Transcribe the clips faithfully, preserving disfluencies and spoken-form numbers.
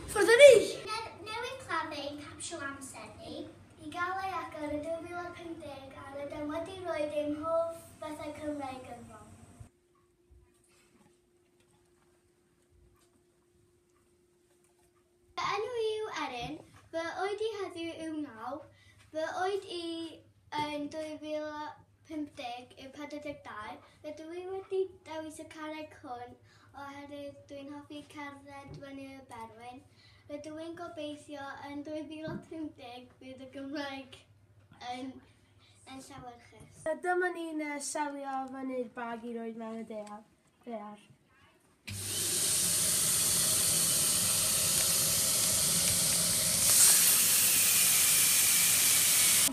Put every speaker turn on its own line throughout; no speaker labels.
Ffwrdd â ni!
Newydd claddu ein capsiwl amser ni. I gael ei agor yn dwy fil a pump deg a rydym wedi rhoi ein hoff bethau Cymraeg ynddo. Fy enw i yw Erin, fy oed i heddiw yw naw, fy oed i yn dwy fil a pump deg yw pedwar deg dau. Rydw i wedi dewis y carreg hwn oherwydd dwi'n hoffi cerdded fyny y Berwyn. Rydw i'n gobeithio yn dwy fil a pump deg bydd y Gymraeg yn, yn llewyrchus.
Dyma ni'n uh, selio fyny'r bag i roed mewn y daear. Daear.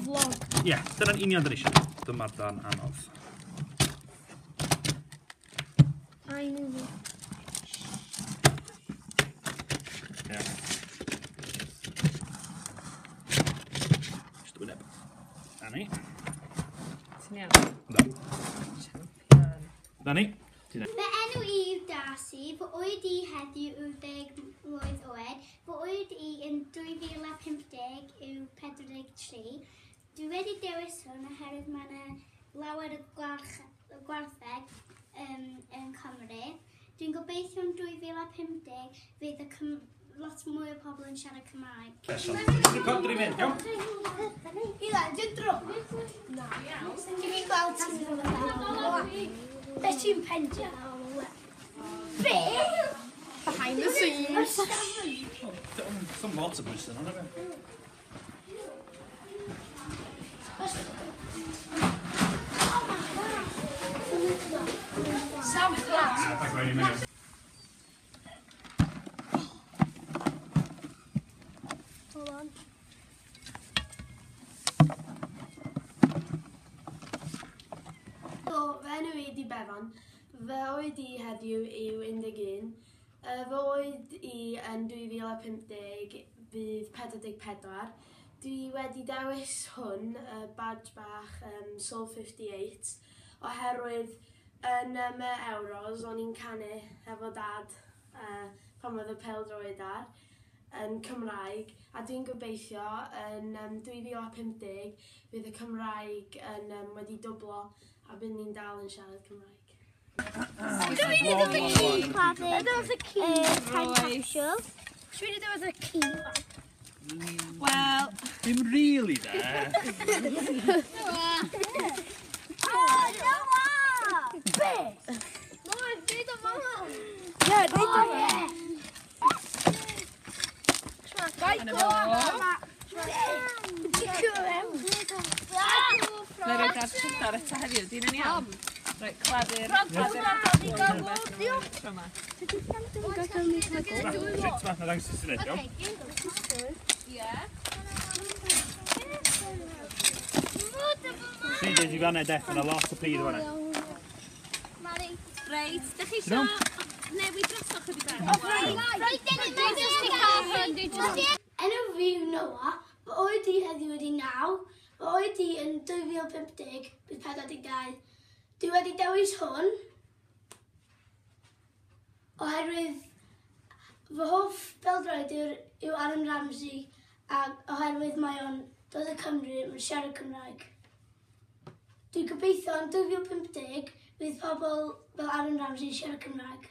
Vlog.
Ie, yeah, dyna'n union dyn ni eisiau. Dyma'r darn anodd.
I knew.
Ie. Just wyneb. Na ni.
Ti'n iawn?
Da.
Champion.
Na ni. Ti'n
Fy enw i yw Darcy, fy oed i heddiw yw deg mlwydd oed, fy oed i yn dwy fil a pump deg yw pedwar deg tri. Dwi wedi dewis hwn oherwydd mae yna lawer o gwarch, gwartheg um, yn Cymru. Dwi'n gobeithio yn dwy fil a pump deg fydd y Cym lot mwy o pobl yn siarad Cymraeg.
Recorder i fynd, iawn?
Ila, dwi'n drwg. Na. Dwi'n gweld ti'n Be ti'n pendio? Be?
Behind the scenes.
Some lot o bwys yna, fe?
Sam flat. Hold on. So, fy enw i di Befan. Fy oed i heddiw yw un deg un. Uh, fy oed i yn dwy fil a pump deg bydd pedwar deg pedwar. Dwi wedi dewis hwn, y badge bach um, Soul fifty-eight, oherwydd yn um, y Euros o'n i'n canu efo dad uh, pan oedd y pêl-droed ar yn Cymraeg, a dwi'n gobeithio yn um, dwy fil a pump deg bydd y Cymraeg yn um, wedi dwblo a bydd ni'n dal yn siarad Cymraeg.
Dwi'n mynd i ddod y key. Dwi'n y key. Time capsule.
Dwi'n mynd i ddod y key.
Wel,
Dim really, de.
Oh, Noah!
Be?
Noah, dweud o mama.
Ie, dweud o.
Dyna fo. Na i roed ar trydar eto heddiw, di'n yn iawn? Reit, claddu'r... Claddu'r. Tro 'ma.
Sut ma, na ddangos i syniad, iawn?
Ie.
Tri dweud i fanna, de, yna lot o pridd fanna.
Reit, dych chi isio newid drosodd chydig bach?
Enw fi yw Noah, fy oed i heddiw ydi naw, fy oed i yn dwy fil pump deg bydd pedwar deg dau. Dwi wedi dewis hwn oherwydd fy hoff beldroed yw, yw Aaron Ramsey a oherwydd mae o'n dod o Cymru, mae'n siarad Cymraeg. Dwi'n gobeithio yn dwy fil pump deg bydd pobl fel Aaron Ramsey yn siarad Cymraeg.